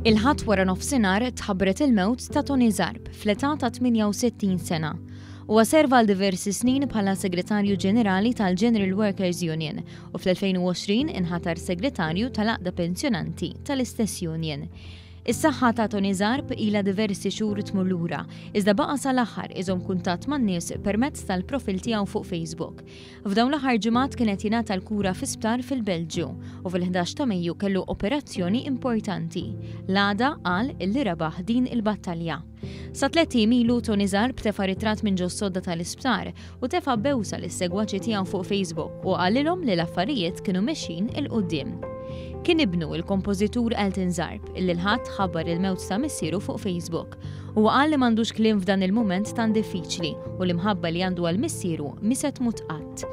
Il-Ħadd wara nofsinhar tħabbret il-mewt ta' Tony Zarb fl-età ta' 68 sena. Huwa serva għal diversi snin bħala Segretarju Ġenerali tal-General Workers Union u fl-2020 inħatar Segretarju tal-Għaqda Pensjonanti tal-istess union. Is-saħħa ta' Tony Zarb ilha diversi xhur tmur lura, iżda baqa' sal-aħħar iżomm kuntatt man-nies permezz tal-profil tiegħu fuq Facebook. F'dawn l-aħħar ġimgħat kien qed jingħata l-kura fi sptar fil-Belġju u fil-11 ta' Mejju kellu operazzjoni importanti. L-għada qal illi rebaħ din il-battalja. Sa tlett ijiem ilu Tony Zarb tefa' ritratt minn ġos-sodda tal-isptar u tefa' bewsa lis-segwaċi tiegħu fuq Facebook u qalilhom li l-affarijiet kienu mexjin 'il quddiem. Kien ibnu, il-kompożitur Elton Zarb, illi l-Ħadd ħabbar il-mewt ta' missieru fuq Facebook. Huwa qal li m'għandux kliem f'dan il-mument tant diffiċli u l-imħabba li għandu għal missieru mhi se tmut qatt.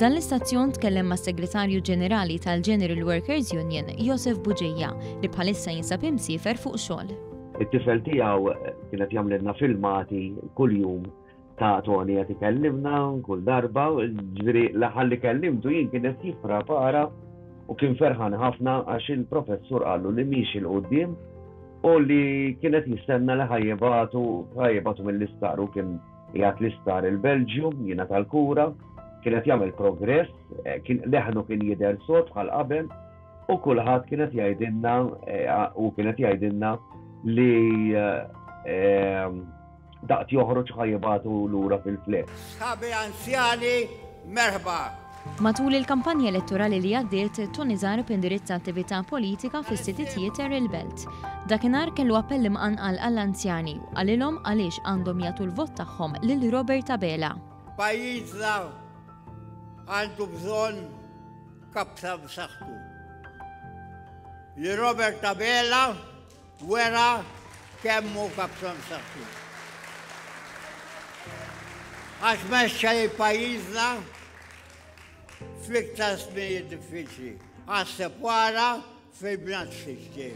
Dan l-istazzjon tkellem mas-Segretarju Ġenerali tal-General Workers Union, Josef Bugeja, li bħalissa jinsab imsiefer fuq xogħol. It-tifel tiegħu kien qed jagħmlilna filmati kuljum ta' Tony qed ikellimna kull darba, ġifieri l-aħħar li kellimtu jien kien qed jipprepara u kien ferħan ħafna għax il-professur qallu li miexi 'l quddiem u li kien qed jistenna li ħajjibatu ħajjibatu mill-isptar u kien qiegħed l-isptar il-Belġju jingħata l-kura, kien qed jagħmel progress, eh, kien leħnu kien jidher sod bħal qabel U kulħadd kien qed jgħidilna u kien qed jgħidilna li daqt joħroġ ħa jibagħtu lura fil-flet. Sħabi anzjani, merħba! Matul il-kampanja elettorali li għaddiet, Tony Zarb indirizza attività politika fis-City Theatre il-Belt. Dakinhar kellu appell imqanqal għall-anzjani u qalilhom għaliex għandhom jagħtu l-vot tagħhom lil Robert Abela. Pajjiżna għandu bżonn Kaptan b'saħħtu. Li Robert Abela wera kemm hu kaptan b'saħħtu. Għax mexxa lil pajjiżna fl-iktar żminijiet diffiċli. Aħseb wara fil-bnazzi x'ġej.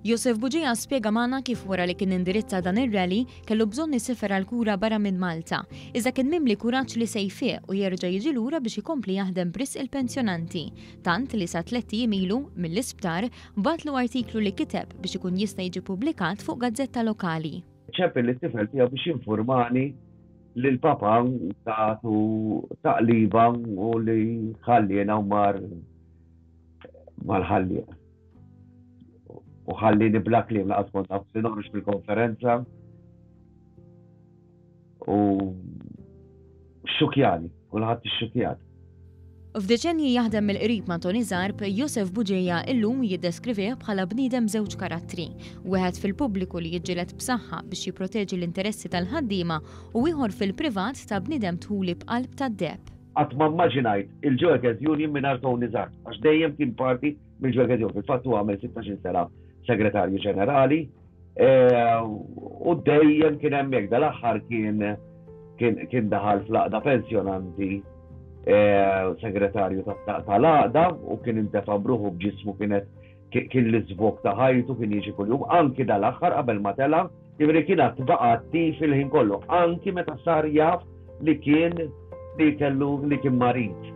Josef Bugeja spjega magħna kif wara li kien indirizza dan ir-rally kellu bżonn isifer għal kura barra minn Malta, iżda kien mimli kuraġġ li se jfieq u jerġa' jiġi lura biex ikompli jaħdem b'risq il-pensjonanti, tant li sa tlett ijiem ilu, mill-isptar, bagħatlu artiklu li kiteb biex ikun jista' jiġi ppubblikat fuq gazzetta lokali. Ċempel lit-tifel tiegħu biex jinfurmani li l-papa tatu taqliba u li ħalliena u mar mal-ħallieq. U ħallini bla kliem laqas kont naf li noħroġ fil-konferenza. U xukjani, kulħadd ixxukjat. F'deċennji jaħdem mill-qrib ma' Tony Zarb, Josef Bugeja illum jiddeskrivih bħala bniedem b'żewġ karattri, wieħed fil-pubbliku li jiġġieled b'saħħa biex jipproteġi l-interessi tal-ħaddiema u ieħor fil-privat ta' bniedem dħuli b'qalb tad-deheb. Qatt ma mmaġinajt il-Joekers Union mingħajr Tony Zarb, għax dejjem kien parti mill-Joekers Union. Fil-fatt hu għamel 16-il sena segretarju ġenerali eh, u dejjem kien hemmhekk dal-aħħar kien kien daħal fl-għaqda pensjonanti eh, segretarju tal-għaqda u kien intefa' bruħu b'ġismu kienet kien l-iżvok ta' ħajtu kien jiġi kuljum anki dal-aħħar qabel ma tela' jiġifieri kien għad baqa' attiv il-ħin kollu anki meta sar jaf li kien li kellu li kien marid.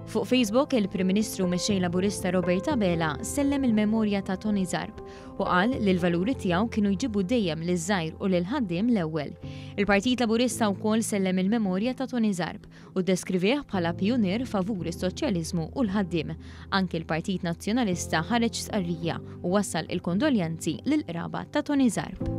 Fuq Facebook, il-Prim Ministru u Mexxej Laburista Robert Abela sellem il-memorja ta' Tony Zarb u qal li l-valuri tiegħu kienu jġibu dejjem liż-żgħir u lill-ħaddiem l-ewwel. Il-Partit Laburista wkoll sellem il-memorja ta' Tony Zarb u ddeskrivih bħala pijunier favur is-soċjaliżmu u l-ħaddiem. Anki l-Partit Nazzjonalista ħareġ stqarrija u wassal il-kondoljanzi lill-qraba ta' Tony Zarb.